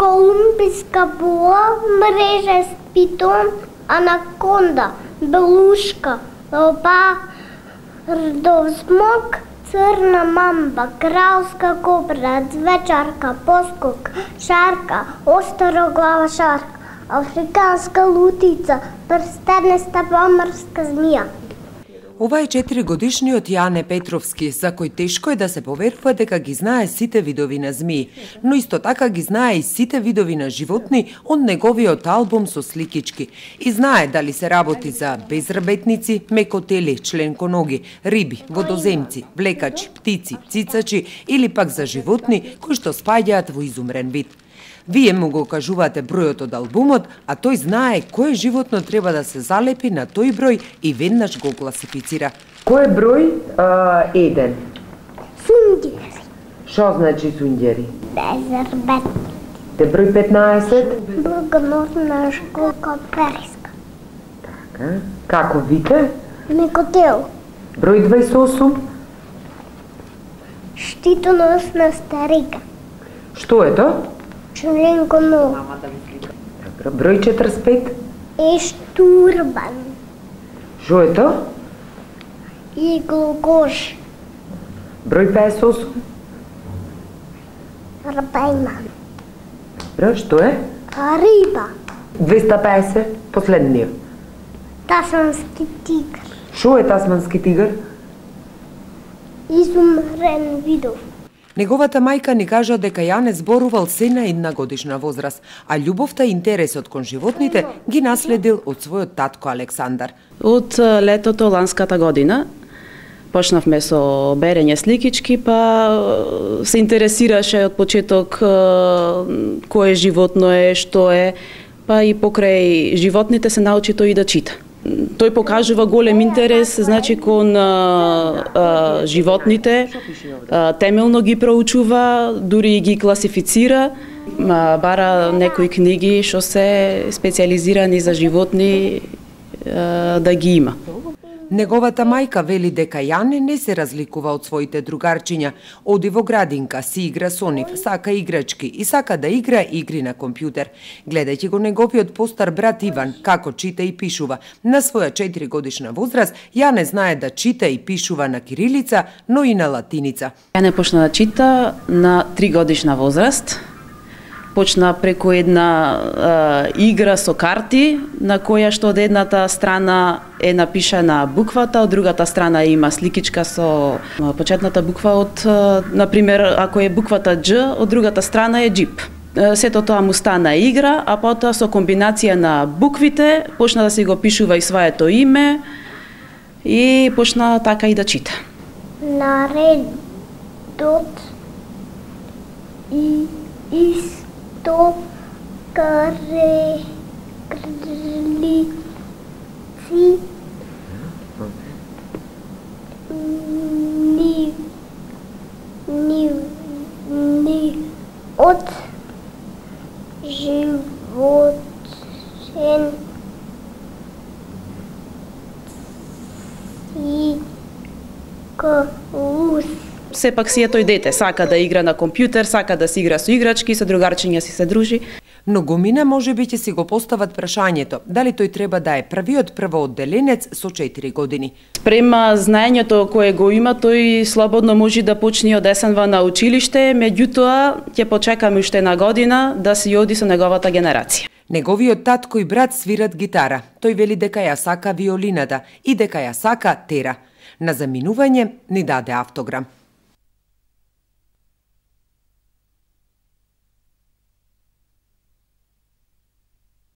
колумбиска була, мрежест питон, анаконда, белушка, леопардов смок, црна мамба, кралска кобра, звечарка, поскок, шарка, остроглава шарка, африканска лутица, прстениста поморска змија. Ова е 4-годишниот Јане Петровски, за кој тешко е да се поверува дека ги знае сите видови на змии, но исто така ги знае и сите видови на животни од неговиот албум со сликички. И знае дали се работи за безрабетници, мекотели, членконоги, риби, водоземци, влекачи, птици, цицачи или пак за животни кои што спаѓаат во изумрен вид. Вие му го кажувате бројот од албумот, а тој знае кој животно треба да се залепи на тој број и веднаш го класифицира. Кој е број 1? Сундјери. Што значи сундјери? Безрабетни. Те број 15? Благоносна школка периска. Така. Како вите? Мекотел. Број 28? Штитоносна старика. Што е тоа? Членконог. Добро. Број 45? Ештурбан. Што е тоа? Иглокош. Број 58? Рабајман. Добро, што е? Риба. 250, последниот. Тасмански тигр. Што е тасмански тигр? Изумрен видов. Неговата мајка ни кажа дека Јане зборувал се на 1-годишна возраст, а љубовта и интересот кон животните ги наследил од својот татко Александар. Од летото ланската година почнавме со берење сликички, па се интересираше од почеток кое животно е, што е, па и покрај животните се научи тој и да чита. Тој покажува голем интерес, значи, кон животните, темелно ги проучува, дури и ги класифицира, бара некои книги што се специализирани за животни да ги има. Неговата мајка вели дека Јане не се разликува од своите другарчиња. Оди во градинка, си игра со нив, сака играчки и сака да игра игри на компјутер. Гледајќи го неговиот постар брат Иван како чита и пишува, на своја 4-годишна возраст Јане знае да чита и пишува на кирилица, но и на латиница. Јане почна да чита на 3-годишна возраст. Почна преку една игра со карти, на која што од едната страна е напишана буквата, од другата страна има сликичка со почетната буква од, например, ако е буквата Дж, од другата страна е џип. Сето тоа му стана игра, а потоа со комбинација на буквите почна да си го пишува и своето име и почна така и да чита. Наредот и то карлици ни од животен циклус. Сепак си е тој дете, сака да игра на компјутер, сака да си игра со играчки, со другарчиња си се дружи. Многумина можеби ќе си го постават прашањето, дали тој треба да е првиот првоодделенец со 4 години. Према знаењето кое го има, тој слободно може да почне од есенва на училиште, меѓутоа ќе почекаме уште една година да си оди со неговата генерација. Неговиот татко и брат свират гитара. Тој вели дека ја сака виолината и дека ја сака тера. На заминување ни даде автограм.